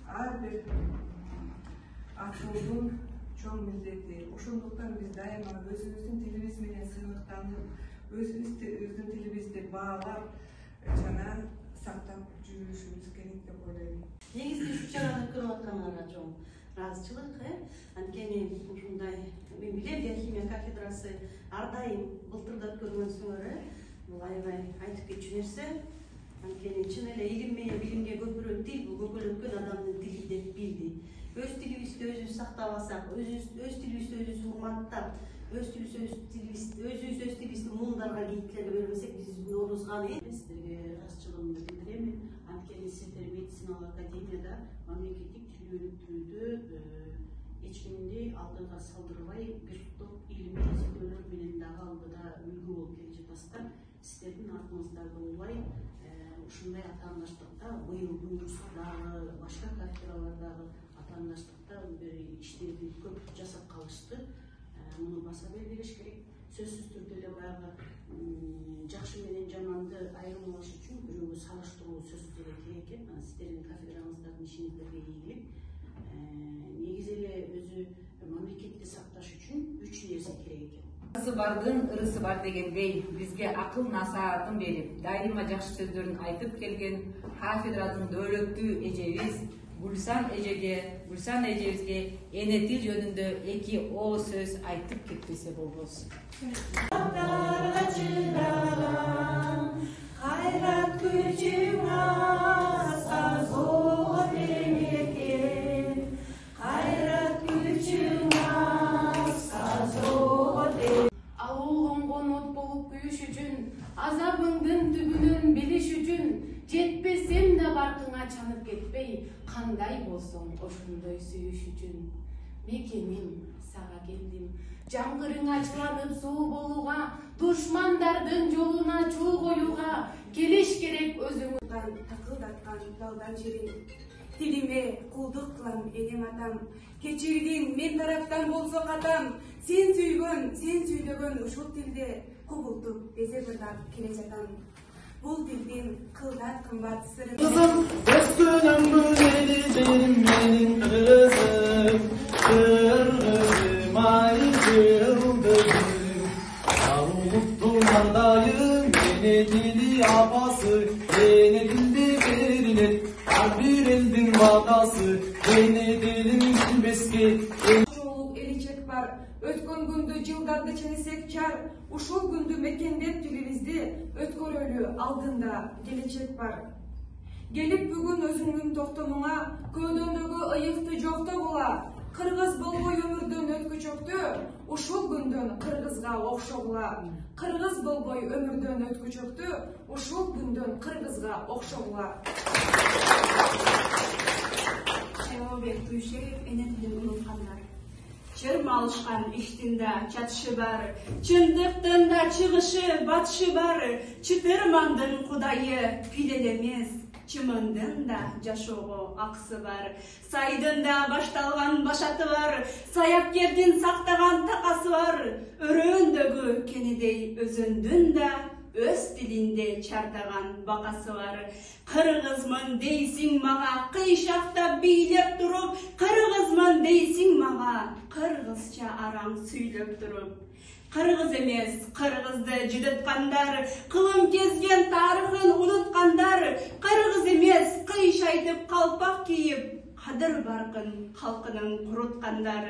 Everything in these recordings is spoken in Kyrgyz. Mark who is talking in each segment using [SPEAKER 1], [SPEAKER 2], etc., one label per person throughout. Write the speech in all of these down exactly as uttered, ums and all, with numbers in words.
[SPEAKER 1] ар бир акылдын чоң милдети. Ошондуктан биз дайыма өзүбүздүн тилибиз менен сыймыктанып, өзүбүздүн тилибизди баалап жана сактап жүрүшүбүз керек деп ойлойм.
[SPEAKER 2] Негизи ушу чараны көрүп аткандарга чоң ыраазычылык, э? Анткени ушундай мен билем, биохимия кафедрасы ар дайым былтырда көргөнсүңөр, э? Бул аябай айтып кетчү нерсе. Анткени чын эле илим менен билимге көпүрө тил, бул көкөлөткөн адамдын тили деп билди. Өз тилибизди өзүбүз сактап алсак, өз тилибизди өзүбүз урматтап, өз тилибизди өзүбүз өз тилибизди муундарга кийиткилерге бербесек, биз оорузган эмес.
[SPEAKER 3] Сиздерге ыраазычылыгымды билдирем. Анткени сиздер медициналык академияда мамлекеттик тил өнүктүрүүдө эч кимди алдыга салдырбай, бир топ илимий изилдөөлөр менен дагы алдыда үлгү болуп келе жатасыздар. Сиздердин артыңыздарды улай ушундай атаандаштыкта быйыл буюрса дагы башка кафедралардагы атаандаштыкта бир иштерди көп жасап калышты. Муну баса белгилеш керек. Сөзсүз түрдө эле баягы жакшы менен жаманды айырмалаш үчүн бирөөгө салыштыруу сөзсүз эле керек экен. Сиздердин кафедраңыздардын ишиңиздерге ийгилик. Негизи эле өзү мамлекетти сакташ үчүн үч нерсе керек экен.
[SPEAKER 4] Ырысы бардын ырысы бар дегендей, бизге акыл насаатын берип, дайыма жакшы сөздөрүн айтып келген кафедрадын дөөлөттүү эжебиз Гүлсан эжеге, Гүлсан эжебизге эне тил жөнүндө эки о сөз айтып кетпесе болбос.
[SPEAKER 5] Кайрат күчүң аса зор эмекен, кайрат күчүң аса зор.
[SPEAKER 6] Алуулган конот болуп күйүш үчүн, азабыңдын түбүнөн билиш үчүн, жетпесем да баркыңа чанып кетпей, кандай болсоң ошондой сүйүш үчүн. Мекеним, сага келдим, жаңгырың ачыланып суу болууга, душмандардын жолуна чуу коюуга, келиш керек өзүңүздан такылдаткан далдан жерин. Тилиме кулдук кылам энем атам, кечиргин мен тараптан болсо катам, сен сүйгөн, сен сүйлөгөн ушул тилде кубултуп эзе бырдап келе жатам. Бул тилдин кылдат кымбат сырын.
[SPEAKER 7] Kızım, üstünüm büleli benim benim kızım, kırgızım ay kırgızım. Avuttum andayım, yine dili apası, yine dildi verilir, her bir eldin vakası, yine dilin bilmeski.
[SPEAKER 1] Çoğuluk eliçek var, ötkön gündü жылдарды ченесек чар, ушул күндү мекендеп тилибизди өткөрөлү алдында келечек бар. Келип бүгүн өзүңдүн токтомуңа, көөдөңдөгү ыйыкты жоктогула, кыргыз болбой өмүрдөн өткүчөктү, ушул күндөн кыргызга окшогула. Кыргыз болбой өмүрдөн өткүчөктү, ушул күндөн кыргызга окшогула.
[SPEAKER 5] Шайлообек Туйшеев, эне тилин унуткандар. Чырма алышкан иштин да чатышы бар, чындыктын да чыгышы, батышы бар. Чытырмандын кудайы пил эле эмес, чымындын да жашоого акысы бар. Сайдын да башталган башаты бар, саяккердин сактаган такасы бар. Өрөөндөгү кенедей өзөндүн да өз тилинде чардаган бакасы бар. Кыргызмын дейсиң мага, кыйшактап бийлеп туруп, кыргызмын дейсиң мага, кыргызча араң сүйлөп туруп. Кыргыз эмес, кыргызды жыдыткандар, кылым кезген тарыхын унуткандар, кыргыз эмес, кыйш айтып калпак кийип, кадыр баркын калкынын куруткандар.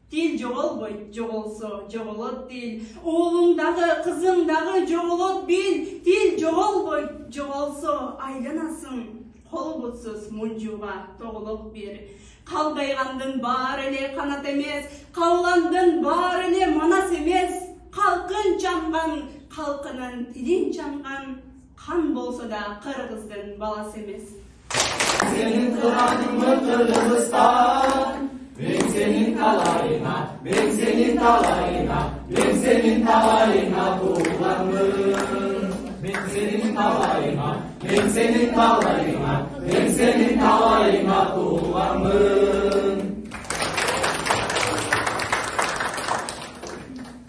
[SPEAKER 5] Тил жоголбойт, жоголсо жоголот тил. Уулуң дагы, кызың дагы жоголот бил. Тил жоголбойт, жоголсо айланасың. Кол бутсуз мунжууга тоголок бир. Калдайгандын баары эле канат эмес, калгандын баары эле манас эмес. Калкын чанган, калкынын тилин чанган, кан болсо да кыргыздын баласы эмес.
[SPEAKER 7] Senin Kur'an'ın Kırgızistan, ben senin talayına, ben senin talayına, ben senin talayına kullandım. Ben senin talayına, ben senin talayına, ben senin talayına kullandım.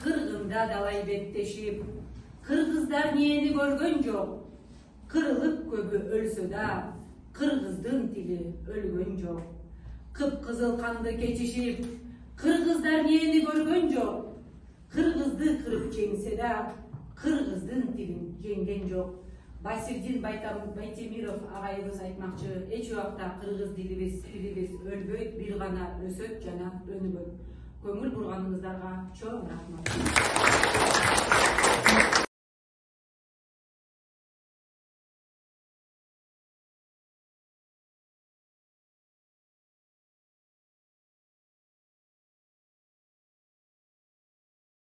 [SPEAKER 4] Kırgında dalay bektешип, kırgızlar niyeni görgön жок. Kırılıp köbü ölsö da, kırgızdın tili ölgön жок. жок. Кыпкызыл канды кечишип, кыргыздар мени көргөн жок. Кыргызды кырып жеңсе да, кыргыздын тилин жеңген жок. Басирдин Байтемиров агайыбыз айтмакчы, эч убакта кыргыз дилибиз, тилибиз өлбөйт, бир гана өсөт жана өнүгөт. Көңүл бурганыңыздарга чоң рахмат.